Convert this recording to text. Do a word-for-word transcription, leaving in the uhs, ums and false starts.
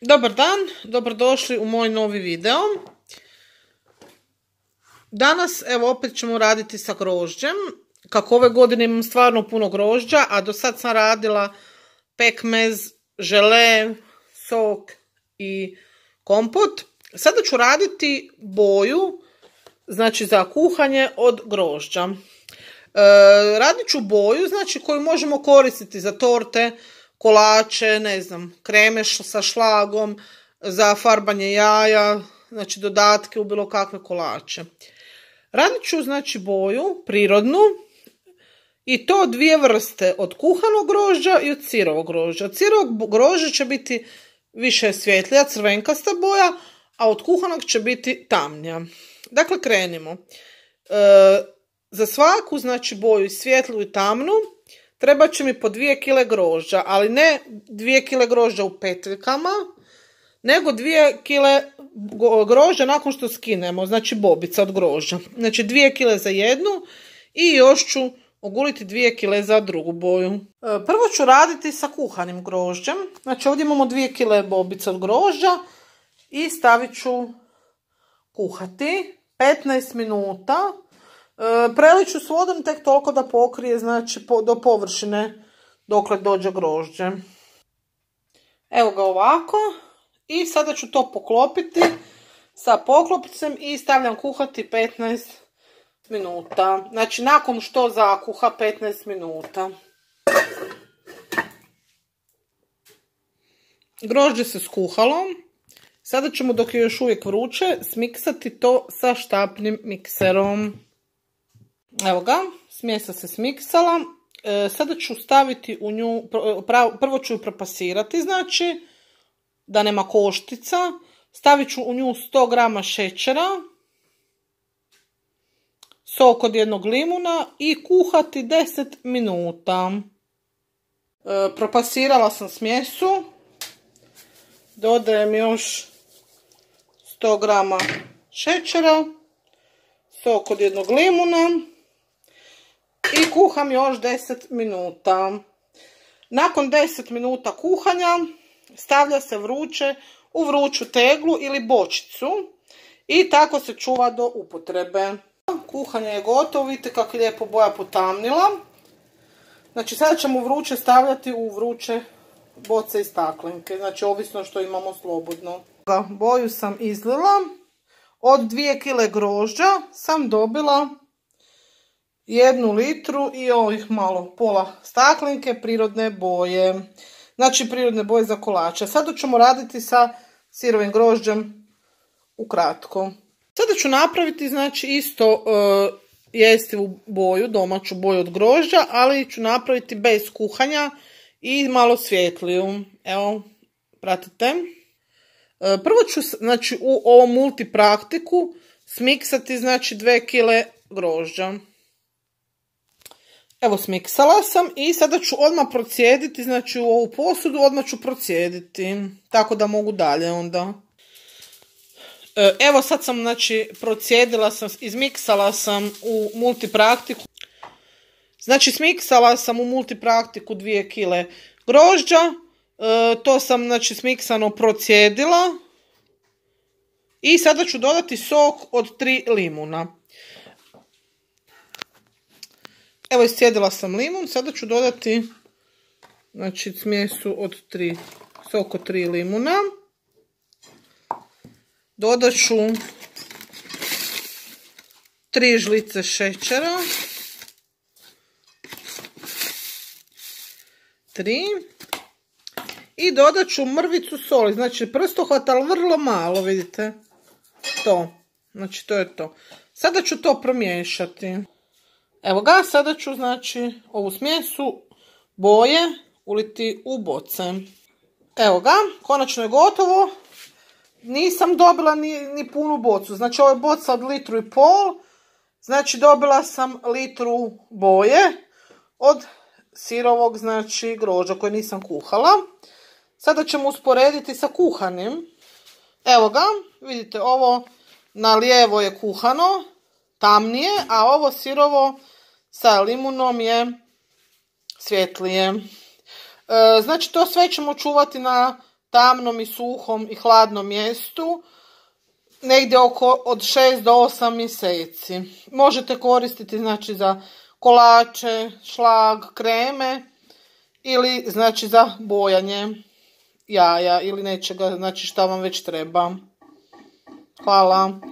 Dobar dan, dobrodošli u moj novi video. Danas evo opet ćemo raditi sa grožđem. Kako ove godine imam stvarno puno grožđa, a do sad sam radila pekmez, žele, sok i kompot. Sada ću raditi boju, znači za kuhanje od grožđa. E, radit ću boju, znači koju možemo koristiti za torte, kolače, ne znam, kreme sa šlagom, za farbanje jaja, znači dodatke u bilo kakve kolače. Radit ću znači boju, prirodnu, i to dvije vrste, od kuhanog grožđa i od sirovog grožđa. Od sirovog grožđa će biti više svjetlija, crvenkasta boja, a od kuhanog će biti tamnija. Dakle, krenimo. E, za svaku, znači, boju, svjetlu i tamnu, treba će mi po dvije kile grožđa, ali ne dvije kile grožđa u petljkama, nego dvije kile grožđa nakon što skinemo, znači bobica od grožđa. Znači dvije kile za jednu i još ću oguliti dvije kile za drugu boju. Prvo ću raditi sa kuhanim grožđem. Znači ovdje imamo dvije kile bobica od grožđa i stavit ću kuhati petnaest minuta. Prelit ću s vodom tek toliko da pokrije, znači do površine dokle dođe grožđe. Evo ga ovako. I sada ću to poklopiti sa poklopcem i stavljam kuhati petnaest minuta. Znači nakon što zakuha petnaest minuta. Grožđe se skuhalo. Sada ćemo, dok je još uvijek vruće, smiksati to sa štapnim mikserom. Evo ga, smjesa se smiksala. E, sada ću staviti u nju, prvo ću ju propasirati, znači da nema koštica. Stavit ću u nju sto grama šećera, sok od jednog limuna i kuhati deset minuta. E, propasirala sam smjesu. Dodajem još sto grama šećera, sok od jednog limuna i kuham još deset minuta. Nakon deset minuta kuhanja stavlja se vruće u vruću teglu ili bočicu i tako se čuva do upotrebe. Kuhanje je gotovo, vidite kako je lijepo boja potamnila. Znači sada ćemo vruće stavljati u vruće boce i staklenke, znači ovisno što imamo slobodno. Boju sam izlila. Od dvije kile grožđa sam dobila jednu litru i ovih malo pola staklenke prirodne boje. Znači prirodne boje za kolače. Sada ćemo raditi sa sirovim grožđem ukratko. Sada ću napraviti znači isto e, jestivu boju, domaću boju od grožđa, ali ću napraviti bez kuhanja i malo svjetliju. Evo, pratite. E, prvo ću znači u ovom multipraktiku smiksati znači dvije kile grožđa. Evo, smiksala sam i sada ću odmah procijediti, znači u ovu posudu odmah ću procijediti, tako da mogu dalje onda. Evo sad sam, znači, procijedila sam, izmiksala sam u multipraktiku. Znači, smiksala sam u multipraktiku dvije kile grožđa, to sam, znači, smiksano procijedila. I sada ću dodati sok od tri limuna. Evo, iscijedila sam limun, sada ću dodati, znači, smjesu od tri, sok od tri limuna. Dodat ću tri žlice šećera. Tri. I dodat ću mrvicu soli, znači prstohvat, ali vrlo malo, vidite. To, znači to je to. Sada ću to promiješati. Evo ga, sada ću znači ovu smjesu boje uliti u boce. Evo ga, konačno je gotovo. Nisam dobila ni, ni punu bocu, znači ovo je boca od litru i pol, znači dobila sam litru boje od sirovog, znači, grožđa koje nisam kuhala. Sada ćemo usporediti sa kuhanim. Evo ga, vidite, ovo na lijevo je kuhano, tamnije, a ovo sirovo sa limunom je svjetlije. E, znači to sve ćemo čuvati na tamnom i suhom i hladnom mjestu negdje oko od šest do osam mjeseci. Možete koristiti znači za kolače, šlag, kreme ili znači za bojanje jaja ili nečega znači šta vam već treba. Hvala.